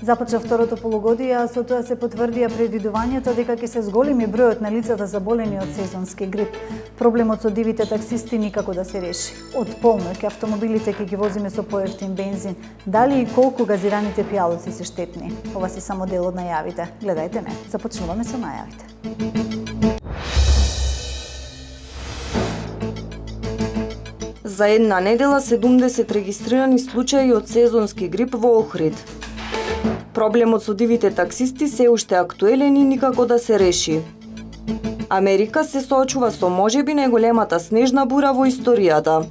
Започна второто полугодие, а со тоа се потврдија предвидувањата дека ќе се зголеми бројот на лицата заболени од сезонски грип. Проблемот со дивите таксисти никако да се реши. Од полноќ автомобилите ќе ги возиме со поевтин бензин. Дали и колку газираните пијалоци се штетни? Ова се само дел од најавите. Гледајте не. Започнуваме со најавите. За една недела 70 регистрирани случаи од сезонски грип во Охрид. Проблемот со дивите таксисти се уште актуелен и никако да се реши. Америка се соочува со можеби најголемата снежна бура во историјата.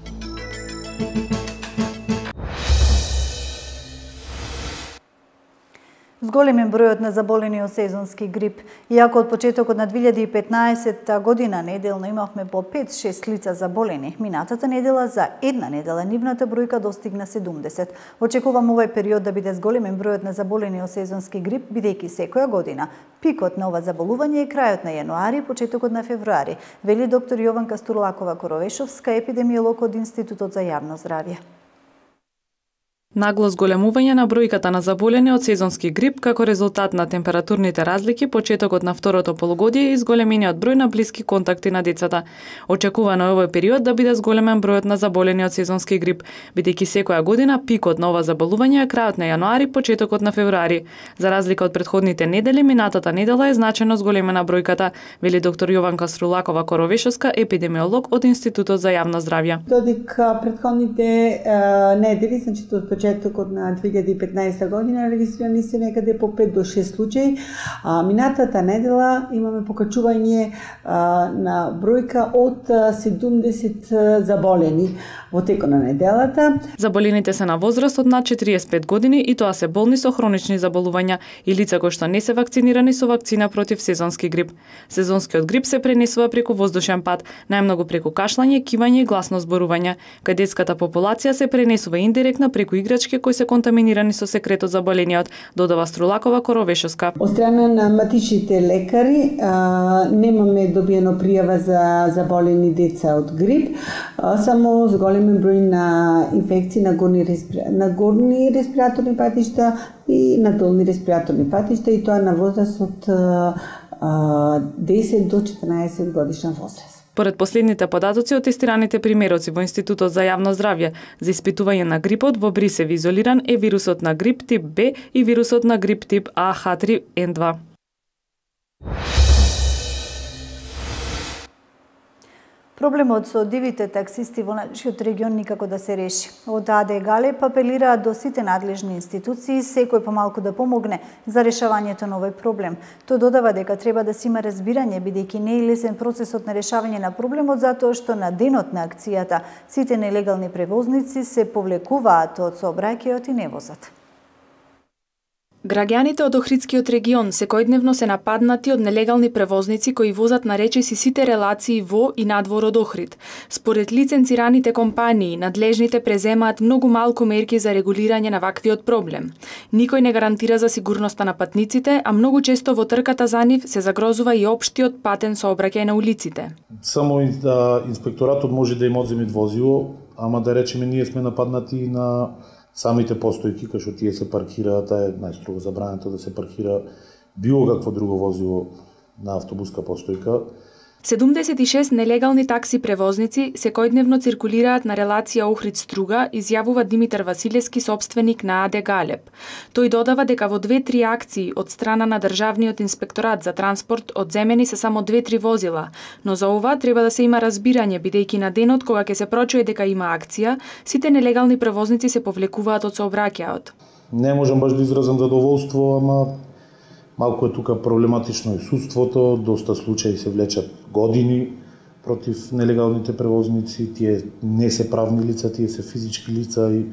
Зголемен бројот на заболени од сезонски грип. Иако од почетокот на 2015 година неделно имавме по 5-6 лица заболени, минатата недела за една недела нивната бројка достигна 70. Очекувам овој период да биде зголемен бројот на заболени од сезонски грип, бидејќи секоја година пикот на ова заболување е крајот на јануари и почетокот на февруари, вели доктор Јованка Стурлакова-Коровешовска, епидемиолог од Институтот за јавно здравје. Нагло зголемување на бројката на заболени од сезонски грип како резултат на температурните разлики, почетокот на второто полугодие и зголемениот број на блиски контакти на децата. Очекувано е овој период да биде зголемен бројот на заболени од сезонски грип, бидејќи секоја година пикот на ова заболување е крајот на јануари, почетокот на февруари. За разлика од претходните недели, минатата недела е значајно зголемена бројката, вели доктор Јованка Стурлакова-Коровешовска, епидемиолог од Институтот за јавно здравје. Додека претходните недели, значи почетокот на 2015 година регистрирани се некаде по 5 до 6 случаи. Минатата недела имаме покачување на бројка од 70 заболени во текот на неделата. Заболените се на возраст од над 45 години и тоа се болни со хронични заболувања и лица кои што не се вакцинирани со вакцина против сезонски грип. Сезонскиот грип се пренесува преку воздушен пат, најмногу преку кашлање, кивање и гласно зборување. Кај детската популација се пренесува индиректно преку играчки кои се контаминирани со секретот заболениот, додава Струрлакова-Коровешовска. Од страна на матичните лекари немаме добиено пријава за заболени деца од грип, само зголемен број на инфекции на горни респираторни патишта и на долни респираторни патишта, и тоа на возраст од 10 до 14 годишна возраст. Поред последните податоци од тестираните примероци во Институтот за јавно здравје за испитување на грипот во Брисев изолиран е вирусот на грип тип Б и вирусот на грип тип А H3N2. Проблемот со дивите таксисти во нашиот регион никако да се реши. Од АД Галеб апелираат до сите надлежни институции секој помалку да помогне за решавањето на овој проблем. Тој додава дека треба да се има разбирање, бидејќи не е лесен процесот на решавање на проблемот, затоа што на денот на акцијата сите нелегални превозници се повлекуваат од сообраќајот и не возат. Граѓаните од Охридскиот регион секојдневно се нападнати од нелегални превозници кои возат на речиси сите релации во и надвор од Охрид. Според лиценцираните компании, надлежните преземаат многу малку мерки за регулирање на ваквиот проблем. Никој не гарантира за сигурноста на патниците, а многу често во трката за нив се загрозува и општиот патен сообраќај на улиците. Само инспекторатот може да им одземе возило, ама да речеме ние сме нападнати на самите постојки, кај што тие се паркираат, е најстрого забрането да се паркира било какво друго возило на автобуска постојка. 76 нелегални такси превозници секојдневно циркулираат на релација Охрид-Струга, изјавува Димитар Василевски, собственик на АД Галеб. Тој додава дека во 2-3 акции од страна на Државниот инспекторат за транспорт одземени се само 2-3 возила, но за ова треба да се има разбирање, бидејќи на денот кога ќе се прочуе дека има акција, сите нелегални превозници се повлекуваат од сообраќајот. Не можам баш да изразам задоволство, ама малку е тука проблематично и судството, доста случаи се влечат години против нелегалните превозници, тие не се правни лица, тие се физички лица и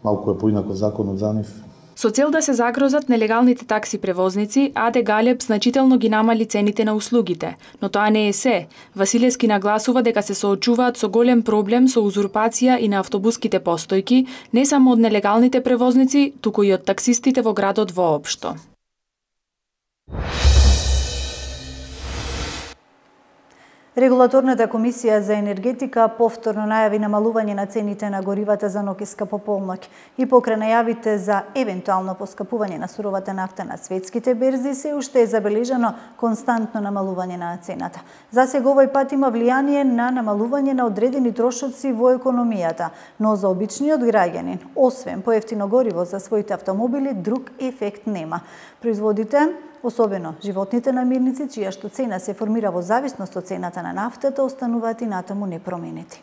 малку е поинаков законот за нив. Со цел да се загрозат нелегалните такси превозници, АД Галеб значително ги намали цените на услугите, но тоа не е се. Василевски нагласува дека се соочуваат со голем проблем со узурпација и на автобуските постојки, не само од нелегалните превозници, туку и од таксистите во градот воопшто. Регулаторната комисија за енергетика повторно најави намалување на цените на горивата за ноќеска по полноќ и покрај најавите за евентуално поскапување на суровата нафта на светските берзи се уште е забележано константно намалување на цената. Засега овој пат има влијание на намалување на одредени трошоци во економијата, но за обичниот граѓанин, освен поевтино гориво за своите автомобили, друг ефект нема. Производите, особено животните намирници, чијашто цена се формира во зависност од цената на нафтата, остануваат и натаму непроменети.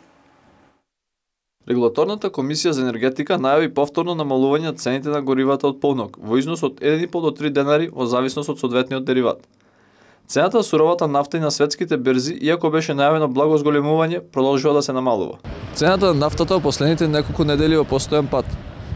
Регулаторната комисија за енергетика најави повторно намалување на цените на горивата од полнок во износ од 1,5 до 3 денари во зависност од соодветниот дериват. Цената на суровата нафта и на светските берзи, иако беше најавено благо зголемување, продолжува да се намалува. Цената на нафтата во последните неколку недели во постојан пат.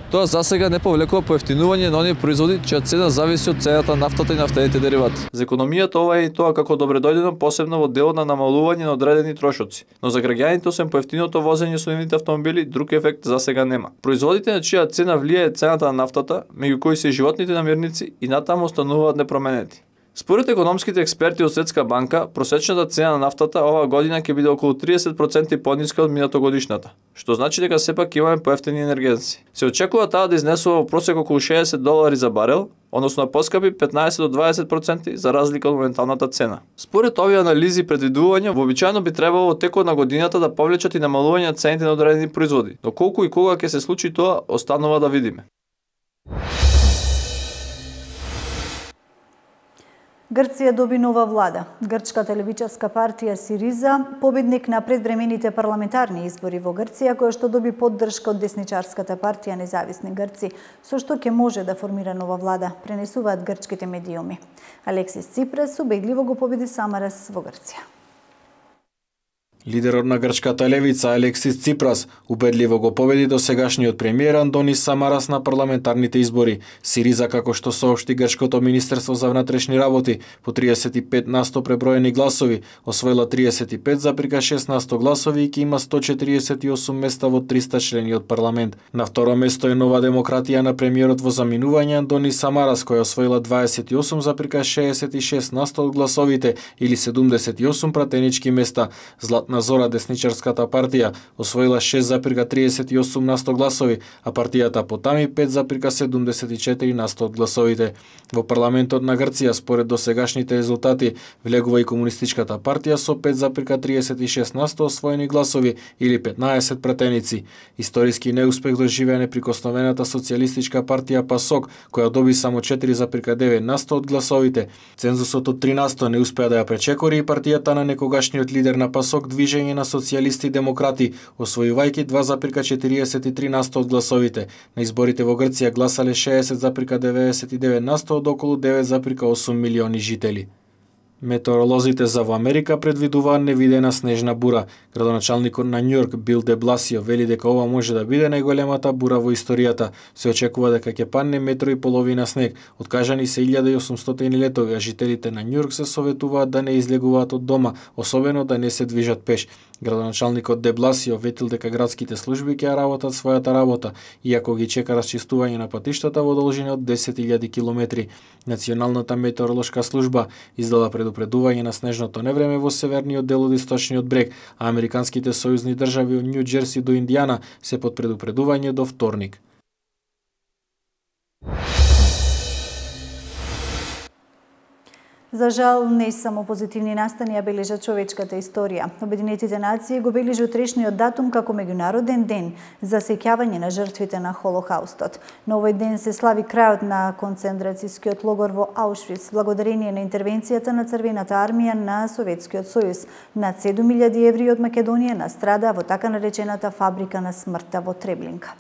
Тоа засега не повлекува поевтинување на оние производи чија цена зависи од цената на нафтата и нафтените деривати. За економијата ова е и тоа како добредојдено, посебно во делот на намалување на одредени трошоци, но за граѓаните освен поевтиното возење со нивните автомобили, друг ефект засега нема. Производите на чија цена влијае цената на нафтата, меѓу кои се и животните намирници, и натаму остануваат непроменети. Според економските експерти од Светска банка, просечната цена на нафтата оваа година ќе биде околу 30% пониска од минатогодишната, што значи дека сепак имаме поевтини енергенци. Се очекува таа да изнесува во просек околу $60 за барел, односно поскапи 15 до 20% за разлика од моменталната цена. Според овие анализи и предвидувања, вообичаено би требало во текот на годината да повлечат и намалување на цените на одредени производи, но колку и кога ќе се случи тоа, останува да видиме. Грција доби нова влада. Грчката левичарска партија Сириза, победник на предвремените парламентарни избори во Грција, која што доби поддршка од десничарската партија Независни Грци, со што ќе може да формира нова влада, пренесуваат грчките медиуми. Алексис Ципрас убедливо го победи Самарас во Грција. Лидерот на грчката левица Алексис Ципрас убедливо го победи досегашниот премиер Антонис Самарас на парламентарните избори. Сириза, како што соопшти грчкото министерство за внатрешни работи, по 35% преброени гласови, освоила 35,6% гласови и ќе има 148 места во 300 члениот парламент. На второ место е Нова демократија на премиерот во заминување Антонис Самарас, која освоила 28,66% од гласовите или 78 пратенички места. Златна Зора, десничарската партија, освоила 6,38% гласови, а партијата Потами 5,74% од гласовите. Во парламентот на Грција, според досегашните резултати, влегува и комунистичката партија со 5,36% освоени гласови или 15 пратеници. Историски неуспех доживеа неприкосновената социјалистичка партија ПАСОК, која доби само 4,9% од гласовите. Цензусот од 3% не успеа да ја пречекори и партијата на некогашниот лидер на ПАСОК, Движење на социјалисти и демократи, освојувајќи 2,43% од гласовите. На изборите во Грција гласале 60,99% од околу 9,8 милиони жители. Метеоролозите за во Америка предвидуваат невидена снежна бура. Градоначалникот на Њујорк Бил де Бласио вели дека ова може да биде најголемата бура во историјата. Се очекува дека ќе падне 1,5 метри снег. Откажани се 1800 летови, а жителите на Њујорк се советуваат да не излегуваат од дома, особено да не се движат пеш. Градоначалникот де Бласио ветил дека градските служби ќе работат својата работа, иако ги чека расчистување на патиштата во должина од 10.000 километри. Националната метеоролошка служба издала предупредување на снежното невреме во северниот дел од источниот брег, а американските сојузни држави од Њу Џерси до Индијана се под предупредување до вторник. За жал, не само позитивни настани ја бележат човечката историја. Обединетите нации го бележи утрешниот датум како меѓународен ден за сеќавање на жртвите на Холокаустот. На овој ден се слави крајот на концентрацијскиот логор во Аушвиц, благодарение на интервенцијата на Црвената армија на Советскиот сојуз. Над 7.000 евреи од Македонија настрадаа во така наречената фабрика на смртта во Треблинка.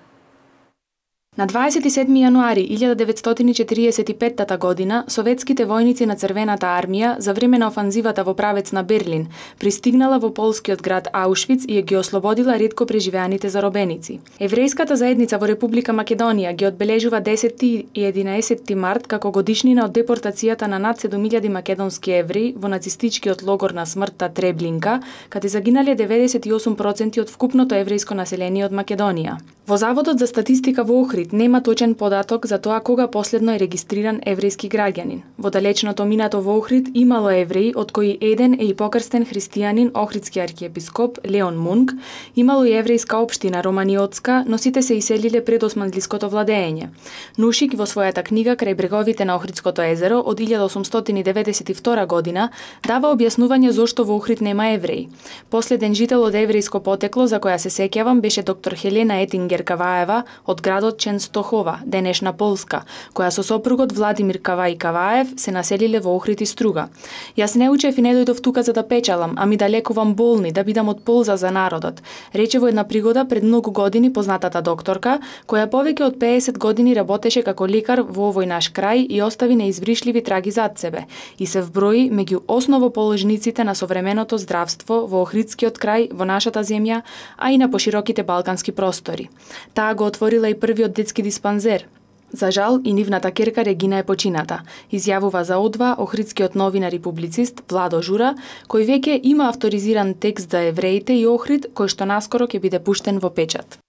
На 27. јануари 1945 година, советските војници на Црвената армија за време на офанзивата во правец на Берлин пристигнала во полскиот град Аушвиц и ги ослободила ретко преживеаните заробеници. Еврејската заедница во Република Македонија ги одбележува 10 и 11 март како годишнина од депортацијата на над 7.000 македонски евреи во нацистичкиот логор на смртта Треблинка, каде загинале 98% од вкупното еврејско население од Македонија. Во Заводот за статистика во Охрид Охрид нема точен податок за тоа кога последно е регистриран еврејски граѓанин. Во далечното минато во Охрид имало евреи, од кои еден е и покрстен христијанин охридски архиепископ Леон Мунк, имало и еврејска општина Романиотска, но сите се иселиле пред османлиското владење. Нушик во својата книга Крај бреговите на Охридското езеро од 1892 година дава објаснување зошто во Охрид нема евреи. Последен жител од еврејско потекло за која се сеќавам беше доктор Хелена Етингер Каваева од градот Ченстохова, денешна Полска, која со сопругот Владимир Кавај Каваев се населиле во Охрид и Струга. Јас не учев и не дојдов тука за да печалам, ами да лекувам болни, да бидам од полза за народот, рече во една пригода пред многу години познатата докторка, која повеќе од 50 години работеше како лекар во овој наш крај и остави неизбришливи траги зад себе и се вброи меѓу основоположниците на современото здравство во Охридскиот крај, во нашата земја, а и на пошироките балкански простори. Таа го отворила и првиот детски диспанзер. За жал, и нивната керка Регина е почината, изјавува за О2 охридскиот новинар и публицист Владо Жура, кој веќе има авторизиран текст за евреите и Охрид, кој што наскоро ќе биде пуштен во печат.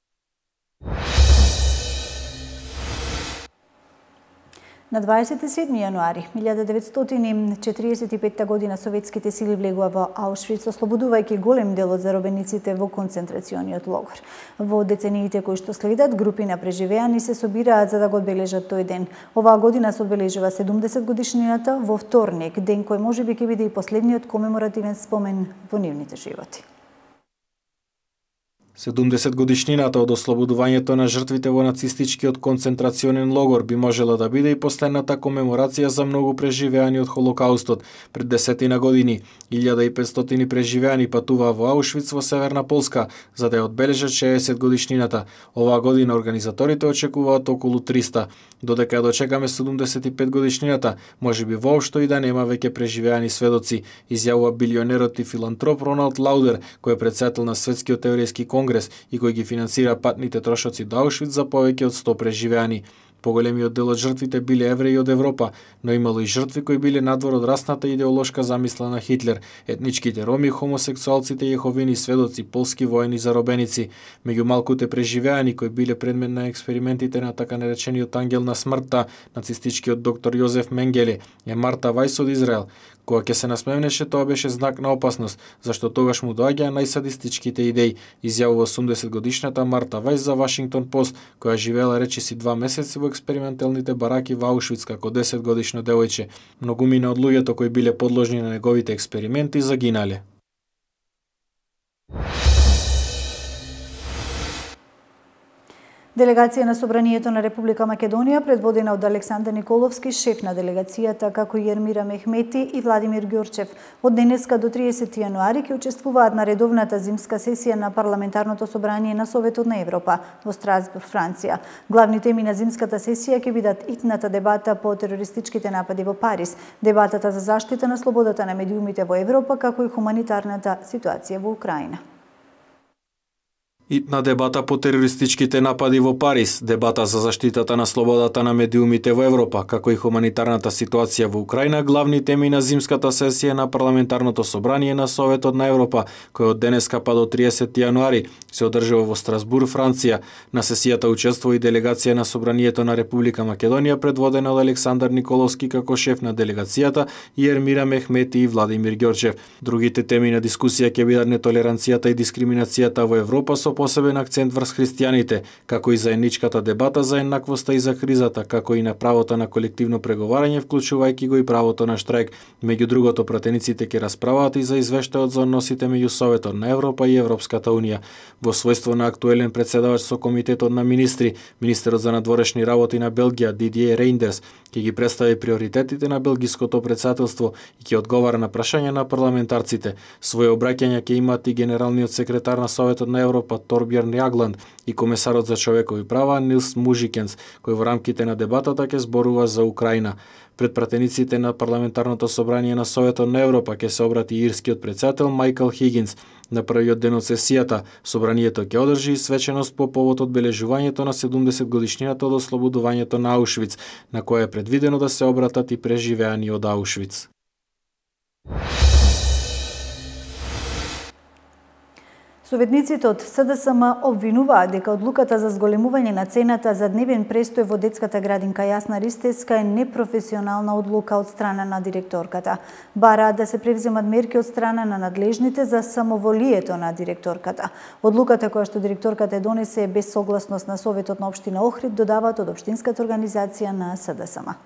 На 27 јануари 1945 година советските сили влегува во Аушвиц, ослободувајќи голем дел од заробениците во концентрацијниот логор. Во децениите кои што следат, групи на преживеани се собираат за да го одбележат тој ден. Оваа година се одбележува 70 годишнината во вторник, ден кој можеби ќе биде и последниот комеморативен спомен во нивните животи. 70 годишнината од ослободувањето на жртвите во нацистичкиот концентрационен логор би можела да биде и последната комеморација за многу преживеани од Холокаустот. Пред 10 години 1500 преживеани патуваа во Аушвиц во Северна Полска за да ја одбележат 60 годишнината. Оваа година организаторите очекуваат околу 300. Додека ја дочекаме 75 годишнината, можеби воопшто и да нема веќе преживеани сведоци, изјавува билионерот и филантроп Роналд Лаудер, кој е претседател на Светскиот еврејски конгрес и кој ги финансира патните трошоци до Аушвиц за повеќе од 100 преживеани. Поголемиот дел од жртвите биле евреи од Европа, но имало и жртви кои биле надвор од расната идеолошка замисла на Хитлер, етничките роми, хомосексуалците, јеховини сведоци, полски воени заробеници. Меѓу малкуте преживеани кои биле предмет на експериментите на така наречениот ангел на смртта, нацистичкиот доктор Јозеф Менгеле, е Марта Вајс од Израел. Кога ќе се насмевнеше, тоа беше знак на опасност, зашто тогаш му доаѓаа најсадистичките идеи, изјавува 80 годишната Марта Вајс за Вашингтон Пост, која живеела речиси 2 месеци во експерименталните бараки во Аушвиц како 10 годишно девојче. Многумина од луѓето кои биле подложни на неговите експерименти загинале. Делегација на Собранието на Република Македонија, предводена од Александар Николовски, шеф на делегацијата, како и Ермира Мехмети и Владимир Ѓорчев, од денеска до 30 јануари ќе учествуваат на редовната зимска сесија на Парламентарното собрание на Советот на Европа во Страсбург, Франција. Главни теми на зимската сесија ќе бидат итната дебата по терористичките напади во Париз, дебатата за заштита на слободата на медиумите во Европа, како и хуманитарната ситуација во Украина. Итна дебата по терористичките напади во Париз, дебата за заштитата на слободата на медиумите во Европа, како и хуманитарната ситуација во Украина, главни теми на зимската сесија на Парламентарното собрание на Советот на Европа, кој од денеска па до 30 јануари се одржува во Страсбург, Франција. На сесијата учествува и делегација на Собранието на Република Македонија, предводена од Александар Николовски како шеф на делегацијата и Ермира Мехмети и Владимир Ѓорчев. Другите теми на дискусија ќе бидат нетолеранцијата и дискриминацијата во Европа со посебен акцент врз христијаните, како и заедничката дебата за еднаквоста и за кризата, како и на правото на колективно преговарање, вклучувајќи го и правото на штрајк. Меѓу другото, пратениците ќе расправаат и за извештајот за односите меѓу Советот на Европа и Европската унија. Во својство на актуелен претседавач со Комитетот на министри, министерот за надворешни работи на Белгија Дидие Рейндерс ќе ги представи приоритетите на белгиското претседателство и ќе одговара на прашања на парламентарците. Своје обраќања ќе имаат и генералниот секретар на Советот на Европа Торбјерн Јагланд и комесарот за човекови права Нилс Мужикенс, кој во рамките на дебатата ќе зборува за Украина. Пред пратениците на Парламентарното собрание на Советот на Европа ќе се обрати ирскиот претседател Майкл Хигинс. На првиот ден од сесијата, собранието ќе одржи свеченост по повод одбележувањето на 70 годишнината од ослободувањето на Аушвиц, на која е предвидено да се обратат и преживеани од Аушвиц. Советниците од СДСМ обвинуваат дека одлуката за зголемување на цената за дневен престој во детската градинка Јасна Ристевска е непрофесионална одлука од страна на директорката. Бараат да се превземат мерки од страна на надлежните за самоволието на директорката. Одлуката која што директорката е донесе е без согласност на Советот на општина Охрид, додаваат од општинската организација на СДСМ.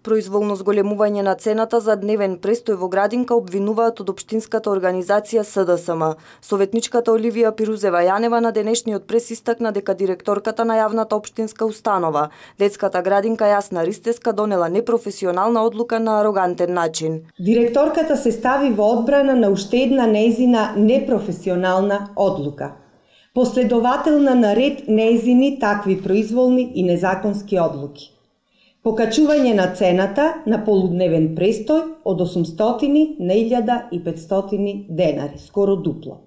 Произволно зголемување на цената за дневен престој во градинка обвинуваат од општинската организација СДСМ. Советничката Оливија Пирузева Јанева на денешниот прес истакна дека директорката на јавната општинска установа, детската градинка Јасна Ристевска, донела непрофесионална одлука на арогантен начин. Директорката се стави во одбрана на уште една нејзина непрофесионална одлука. Последователна на ред нејзини такви произволни и незаконски одлуки. Покачување на цената на полудневен престој од 800 на 1500 денари, скоро дупло,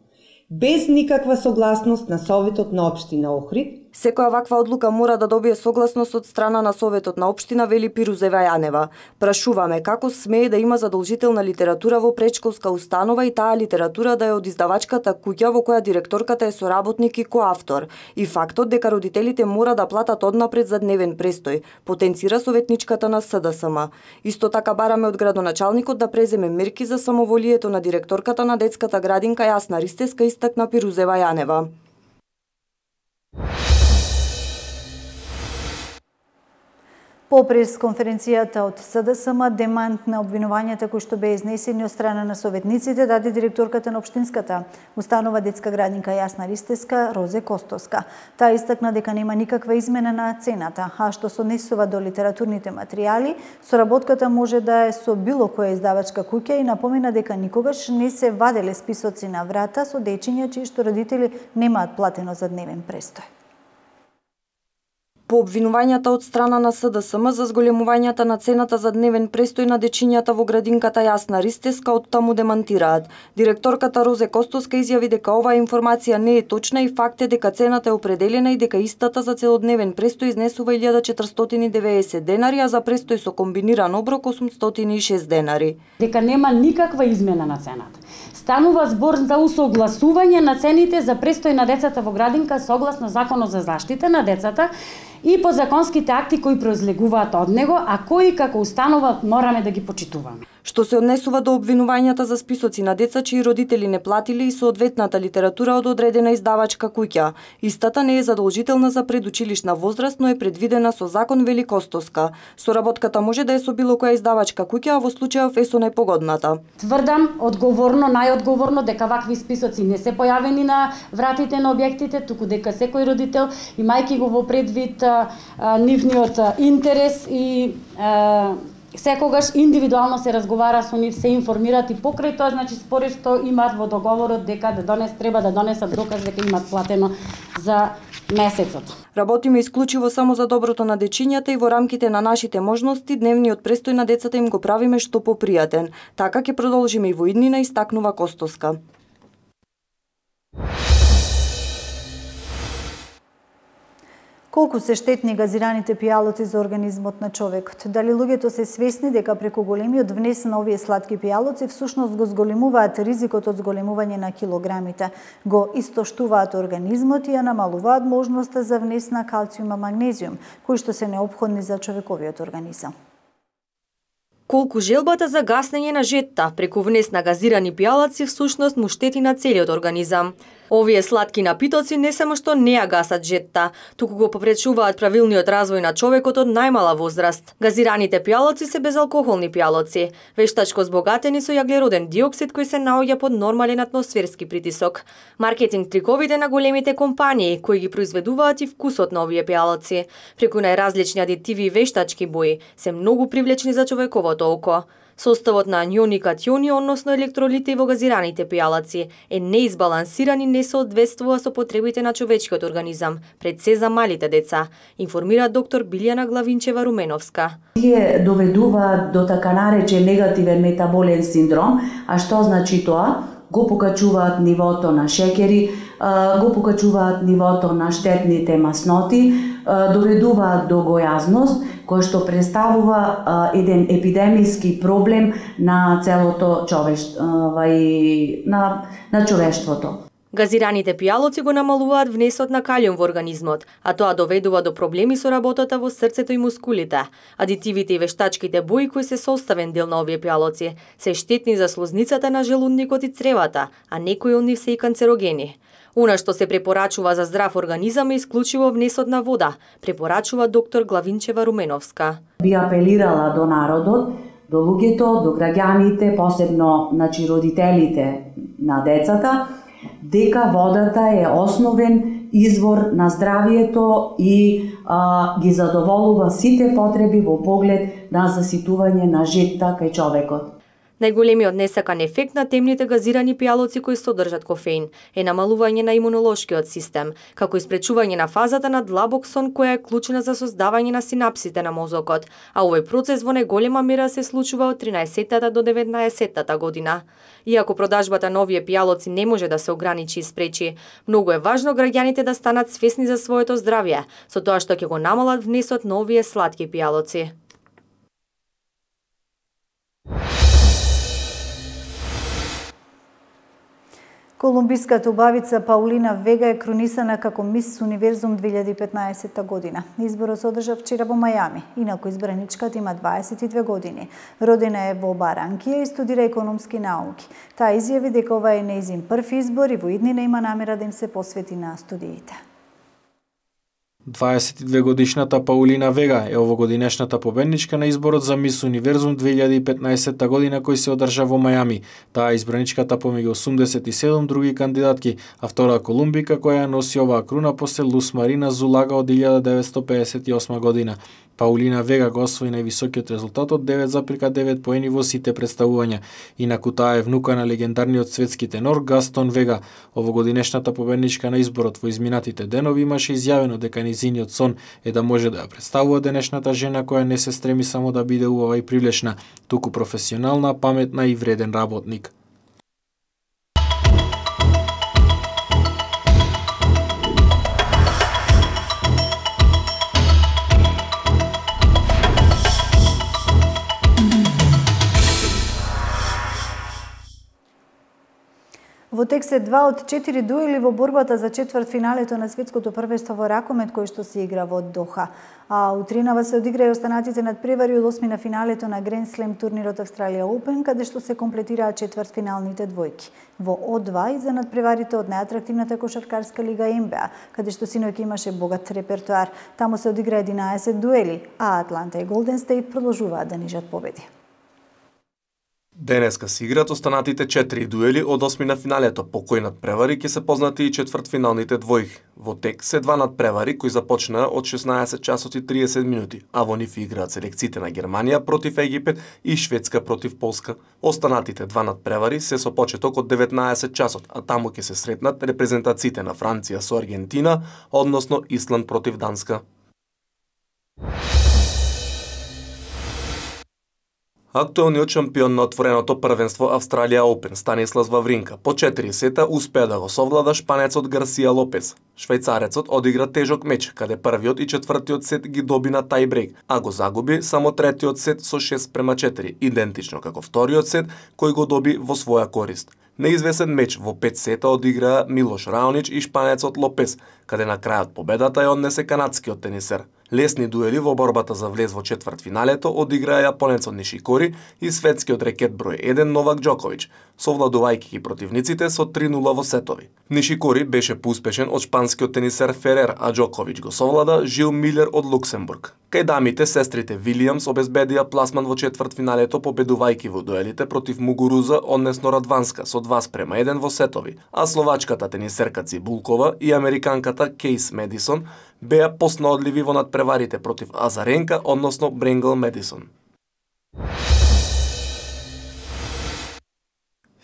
без никаква согласност на Советот на општина Охрид. Секоја ваква одлука мора да добие согласност од страна на Советот на општина, вели Пирузева Јанева. Прашуваме како смее да има задолжителна литература во претшколска установа и таа литература да е од издавачката куќа во која директорката е соработник и коавтор. И фактот дека родителите мора да платат однапред за дневен престој, потенцира советничката на СДСМ. Исто така бараме од градоначалникот да преземе мерки за самоволието на директорката на детската градинка Јасна Ристевска, истакна Пирузева Јанева. По пресконференцијата од СДСМ, демант на обвинувањата кои што беа изнесени од страна на советниците даде директорката на општинската установа детска градинка Јасна Ристевска Розе Костовска. Таа истакна дека нема никаква измена на цената, а што се однесува до литературните материјали, соработката може да е со било која издавачка куќа и напомена дека никогаш не се ваделе списоци на врата со дечиња чии што родители немаат платено за дневен престој. По обвинувањата од страна на СДСМ за зголемувањата на цената за дневен престој на дечињата во градинката Јасна Ристевска, од таму демантираат. Директорката Розе Костовска изјави дека оваа информација не е точна и факт е дека цената е определена и дека истата за целодневен престој изнесува 1490 денари, а за престој со комбиниран оброк 806 денари. Дека нема никаква измена на цената. Станува збор за усогласување на цените за престој на децата во градинка согласно Законот за заштита на децата и подзаконските акти кои произлегуваат од него, а кои како установа мораме да ги почитуваме. Што се однесува до обвинувањата за списоци на деца чии родители не платили и соодветната литература од одредена издавачка куќа. Истата не е задолжителна за предучилишна возраст, но е предвидена со закон, вели Костовска. Соработката може да е со било која издавачка куќа, а во случајов е со најпогодната. Тврдам одговорно, најодговорно дека вакви списоци не се појавени на вратите на објектите, туку дека секој родител, имајќи го во предвид нивниот интерес и секогаш индивидуално се разговара со нив, се информираат и покрај тоа, значи според што имаат во договорот дека треба да донесат доказ дека имаат платено за месецот. Работиме исклучиво само за доброто на дечињата и во рамките на нашите можности дневниот престој на децата им го правиме што попријатен. Така ќе продолжиме и во иднина, истакнува Костовска. Колку се штетни газираните пијалоци за организмот на човекот? Дали луѓето се свесни дека преку големиот внес на овие сладки пијалоци всушност го зголемуваат ризикот од зголемување на килограмите, го истоштуваат организмот и ја намалуваат можноста за внес на калциум и магнезиум, кои што се неопходни за човековиот организам? Колку желбата за гаснење на жетта преку внес на газирани пијалаци всушност му штети на целиот организам. Овие сладки напитоци не само што не ја гасат жетта, туку го попречуваат правилниот развој на човекот од најмала возраст. Газираните пијалоци се безалкохолни пијалоци, вештачко збогатени со јаглероден диоксид кој се наоѓа под нормален атмосферски притисок. Маркетинг триковите на големите компании кои ги произведуваат и вкусот на овие пијалоци, преку најразлични адитиви и вештачки бои, се многу привлечни за човековото око. Составот на ањони и катиони, односно електролити во газираните пијалаци, е неизбалансиран и не соодветствува со потребите на човечкиот организам, пред се за малите деца, информира доктор Билјана Главинчева-Руменовска. Тие доведуваат до така наречен негативен метаболен синдром, а што значи тоа? Го покачуваат нивото на шеќери, го покачуваат нивото на штетните масноти, доведуваат до гојазност, кој што представува еден епидемиски проблем на целото на човештвото. Газираните пијалоци го намалуваат внесот на калиум во организмот, а тоа доведува до проблеми со работата во срцето и мускулите. Адитивите и вештачките бои кои се составен дел на овие пијалоци се штетни за слозницата на желудникот и цревата, а некои од нив се и канцерогени. Она што се препорачува за здрав организам е исклучиво внесот на вода, препорачува доктор Главинчева Руменовска. Би апелирала до народот, до луѓето, до граѓаните, посебно родителите на децата, дека водата е основен извор на здравието и ги задоволува сите потреби во поглед на заситување на жетта кај човекот. Најголемиот несакан ефект на темните газирани пијалоци кои содржат кофеин е намалување на имунолошкиот систем, како и спречување на фазата на длабок сон која е клучна за создавање на синапсите на мозокот, а овој процес во најголема мера се случува од 13-та до 19-та година. Иако продажбата на овие пијалоци не може да се ограничи и спречи, многу е важно граѓаните да станат свесни за своето здравје, со тоа што ќе го намалат внесот на овие сладки пијалоци. Колумбиската убавица Паулина Вега е кронисана како Мис Универзум 2015 година. Изборот се одржа вчера во Мајами. Инаку избраничката има 22 години. Родена е во Баранкија и студира економски науки. Таа изјави дека ова е нејзин прв избор и во иднина има намера да им се посвети на студиите. 22 годишната Паулина Вега е овогодинешната победничка на изборот за Мис Универзум 2015 година кој се одржа во Мајами. Таа е избраничката помеѓу 87 други кандидатки, а втора колумбика која носи оваа круна после Лус Марина Зулага од 1958 година. Паулина Вега го освои највисокиот резултат од 9,9 поени во сите представувања. Инаку таа е внука на легендарниот светски тенор Гастон Вега. Овогодинешната победничка на изборот во изминатите денови имаше изјавено дека низиниот сон е да може да ја представува денешната жена која не се стреми само да биде убава и привлечна, туку професионална, паметна и вреден работник. Во тек се 2 од 4 дуели во борбата за четвртфиналето на светското првенство во ракомет кој што се игра во Доха. А утринава се одигра и останатите надпревари од осмина финалето на Grand Slam турнирот Australia Open, каде што се комплетираат четвртфиналните двојки. Во О2 и за надпреварите од најатрактивната кошаркарска лига НБА, каде што синоќ имаше богат репертоар. Таму се одигра 11 дуели, а Атланта и Голден Стейт продолжуваат да нижат победи. Денеска се играат останатите 4 дуели од осмина финалето, по кои надпревари ќе се познати и четвртфиналните двојки. Во тек се 2 надпревари кои започнаа од 16 часот и 30 минути, а во нив играат селекциите на Германија против Египет и Шведска против Полска. Останатите 2 надпревари се со почеток од 19 часот, а таму ќе се сретнат репрезентациите на Франција со Аргентина, односно Исланд против Данска. Актуелниот шампион на отвореното првенство Австралија Open Станислав Вавринка по 4 сета успеа да го совлада шпанецот Гарсија Лопес. Швајцарецот одигра тежок меч, каде првиот и четвртиот сет ги доби на тајбрейк, а го загуби само третиот сет со 6:4, идентично како вториот сет кој го доби во своја корист. Неизвесен меч во 5 сета одиграа Милош Раонич и шпанецот Лопес, каде на крајот победата ја однесе канадскиот тенисер. Лесни дуели во борбата за влез во четвртфиналето одиграа јапонецот Нишикори и светскиот рекет број 1 Новак Џоковиќ, совладувајќи ги противниците со 3:0 во сетови. Нишикори беше поуспешен од шпанскиот тенисер Ферер, а Џоковиќ го совлада Жил Милер од Луксембург. Кај дамите, сестрите Вилијамс обезбедија пласман во четвртфиналето победувајќи во дуелите против Мугуруза, односно Радванска, со 2:1 во сетови, а словачката тенисерка Цибулкова и американката Кейс Медисон беа поснаодливи во надпреварите против Азаренка, односно Бренгл Медисон.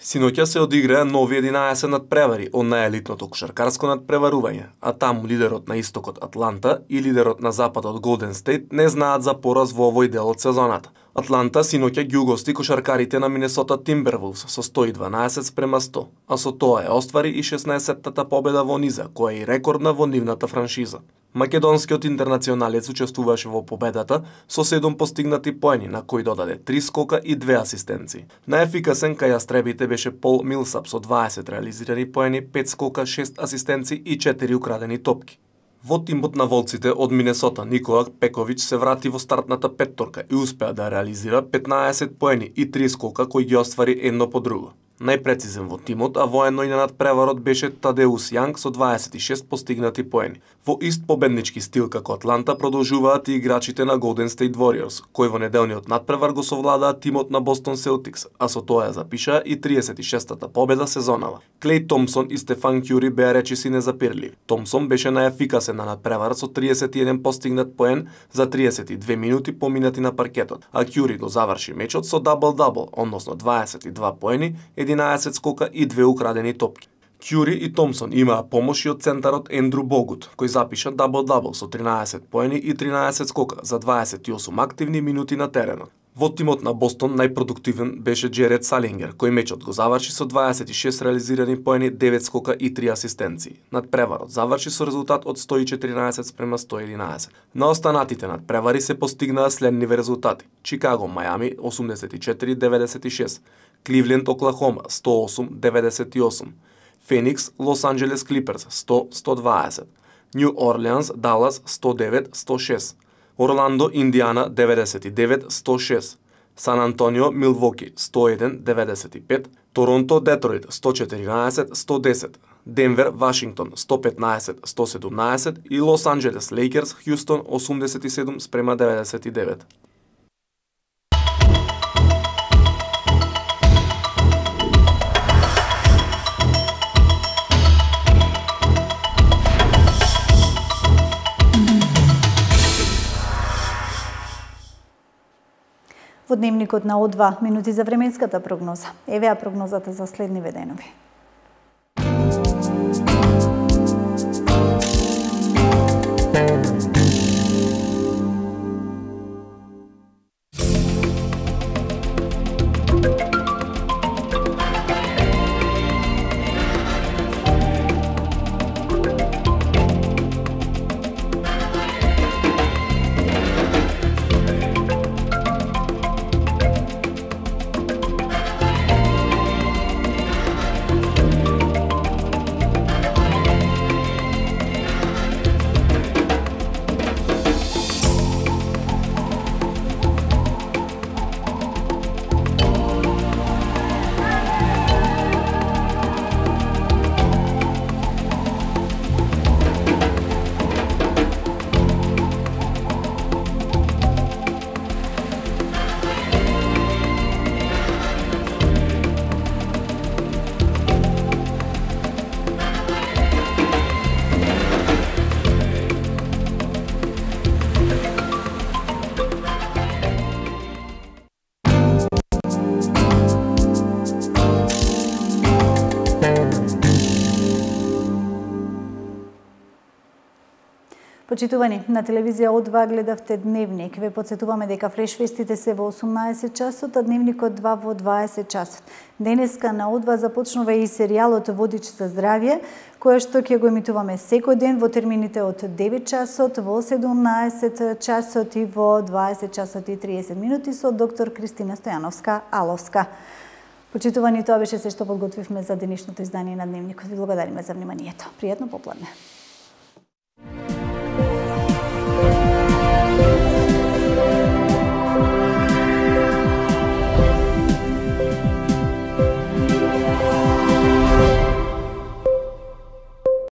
Синоќа се одиграа нови 11 надпревари од најелитното кошаркарско надпреварување, а таму лидерот на истокот Атланта и лидерот на западот Голден Стейт не знаат за пораз во овој дел од сезоната. Атланта синоќа ги угости кошаркарите на Минесота Тимбервулфс со 112-100, а со тоа е оствари и 16-тата победа во низа, која е и рекордна во нивната франшиза. Македонскиот интернационалец учествуваше во победата со 7 постигнати поени, на кои додаде 3 скока и 2 асистенции. Најефикасен кај јастребите беше Пол Милсап со 20 реализирани поени, 5 скока, 6 асистенции и 4 украдени топки. Во тимот на волците од Минесота Никола Пековиќ се врати во стартната петторка и успеа да реализира 15 поени и 3 скока кои ги оствари едно по друго. Најпрецизен во тимот, а воено и на надпреварот беше Тадеус Јанг со 26 постигнати поени. Во ист победнички стил како Атланта продолжуваат и играчите на Golden State Warriors, кои во неделниот надпревар го совладаа тимот на Бостон Селтикс, а со тоа ја запишаа и 36-та победа сезонава. Клеј Томсон и Стефан Кјури беа речиси незапирливи. Томсон беше најефикасен на надпреварот со 31 постигнат поен за 32 минути поминати на паркетот, а Кјури го заврши мечот со дабл-дабл, односно 22 поени, 11 скока и 2 украдени топки. Кјури и Томсон имаа помош и од центарот Ендру Богут, кој запиша дабл-дабл со 13 поени и 13 скока за 28 активни минути на теренот. Во тимот на Бостон најпродуктивен беше Джеред Салингер, кој мечот го заврши со 26 реализирани поени, 9 скока и 3 асистенции. Надпреварот заврши со резултат од 114-111. На останатите надпревари се постигнаа следниве резултати: Чикаго Мајами 84-96, Кливленд Оклахома 108-98, Феникс Лос Анџелес Клиперс 100-120, Нью Орлеанс Далас 109-106, Орландо Индиана 99-106, Сан Антонио Милвоки 101-95, Торонто Детройт 114-110, Денвер Вашингтон 115-117 и Лос Анџелес Лейкерс Хјустон 87-99. Во дневникот на О2 минути за временската прогноза. Еве прогнозата за следниве денови. Почитувани, на телевизија О2 гледавте Дневник. Ве подсетуваме дека флешвестите се во 18 часот, а Дневникот 2 во 20 часот. Денеска на О2 започнува и серијалот Водич за здравје, која што ќе го емитуваме секој ден во термините од 9 часот, во 17 часот и во 20 часот и 30 минути со доктор Кристина Стојановска-Аловска. Почитувани, тоа беше се што подготвивме за денешното издание на Дневникот. Ви благодариме за вниманието. Пријатно попладне.